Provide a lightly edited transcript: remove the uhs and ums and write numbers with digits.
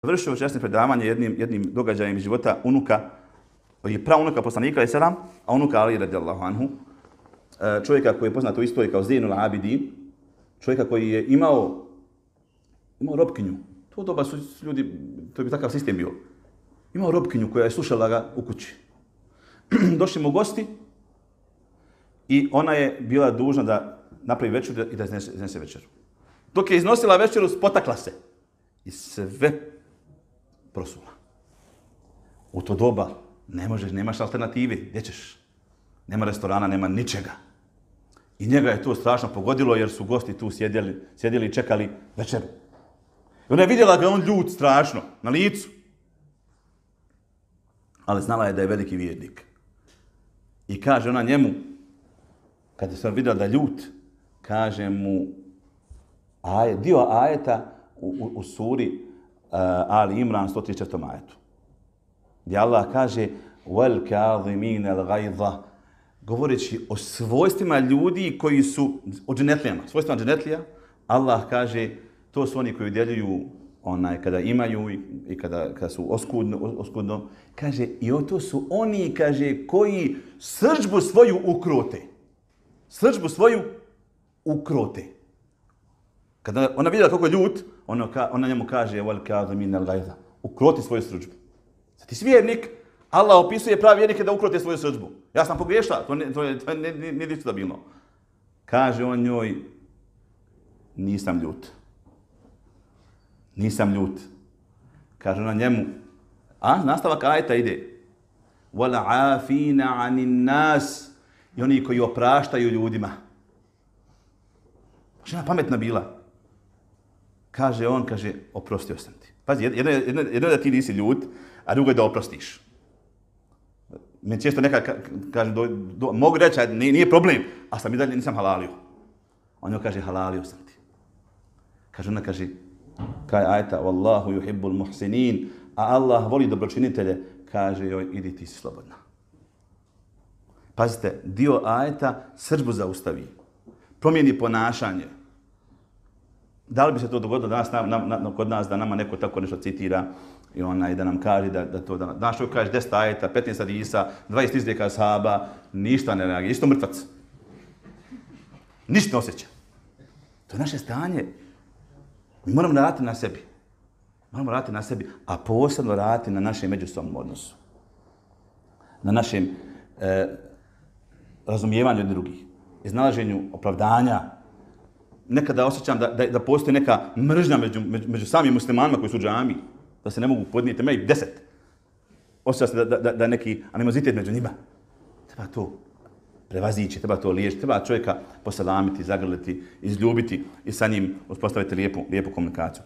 Završio časne predavanje jednim događajem iz života unuka, je praunuka poslanika alejhi selam, a unuka Ali radijallahu anhu, čovjeka koji je poznat u istoriji kao Zejnul Abidin, čovjeka koji je imao robkinju. To doba su ljudi, to bi takav sistem bio. Imao robkinju koja je slušala ga u kući. Došli mu gosti i ona je bila dužna da napravi večeru i da iznese večeru. Dok je iznosila večeru, spotakla se i sve prosula. U to doba nemaš alternative, gdje ćeš? Nema restorana, nema ničega. I njega je to strašno pogodilo jer su gosti tu sjedili i čekali večeru. I ona je vidjela ga on ljut strašno, na licu. Ali znala je da je veliki vjernik. I kaže ona njemu, kada se vidjela da je ljut, kaže mu dio ajeta u suri Ali Imran 134. ajetu. Gdje Allah kaže wal kazimin al-ghayza, govoreći o svojstvima ljudi koji su od dženetlijama, svojstvima dženetlija, Allah kaže to su oni koji udjeljuju kada imaju i kada su oskudno. Kaže i to su oni, kaže, koji srdžbu svoju ukrote. Srdžbu svoju ukrote. Kada ona vidjela kako je ljut, ona njemu kaže wal kazimin al-ghayza, ukroti svoju srdžbu. Sad ti si vjernik, Allah opisuje pravi vjernike da ukrote svoju srdžbu. Ja sam pogriješila, to nije diskutabilno. Kaže on njoj, nisam ljut. Nisam ljut. Kaže ona njemu, nastavak ajeta ide. Wal afina anin nas, i oni koji opraštaju ljudima. Žena pametna bila. Kaže on, oprostio sam ti. Pazi, jedno je da ti nisi ljut, a drugo je da oprostiš. Meni često neka kaže, mogu reći, nije problem, a sam i dalje nisam halalio. On joj kaže, halalio sam ti. Kaže ona, kaj ajta, wallahu yuhibbul muhsinin, a Allah voli dobročinitelje, kaže joj, idi ti si slobodna. Pazite, dio ajeta srdžbu zaustavi, promijeni ponašanje. Da li bi se to dogodilo danas kod nas, da nama neko tako nešto citira i da nam kaže da to danas. Danas čovjek kaže 10 ajeta, 15 hadisa, 20 izreka ashaba, ništa ne reaguje, isto mrtvac. Ništa ne osjeća. To je naše stanje. Mi moramo raditi na sebi. Moramo raditi na sebi, a posebno raditi na našem međusobnom odnosu. Na našem razumijevanju drugih, iznalaženju opravdanja. Nekada osjećam da postoji neka mržnja među samim muslimanima koji su u džami, da se ne mogu podnijeti, ima ih 10. Osjeća se da neki animozitet među njima. Treba to prevazići, treba to liječiti, treba čovjeka poselamiti, zagrliti, izljubiti i sa njim uspostaviti lijepu komunikaciju.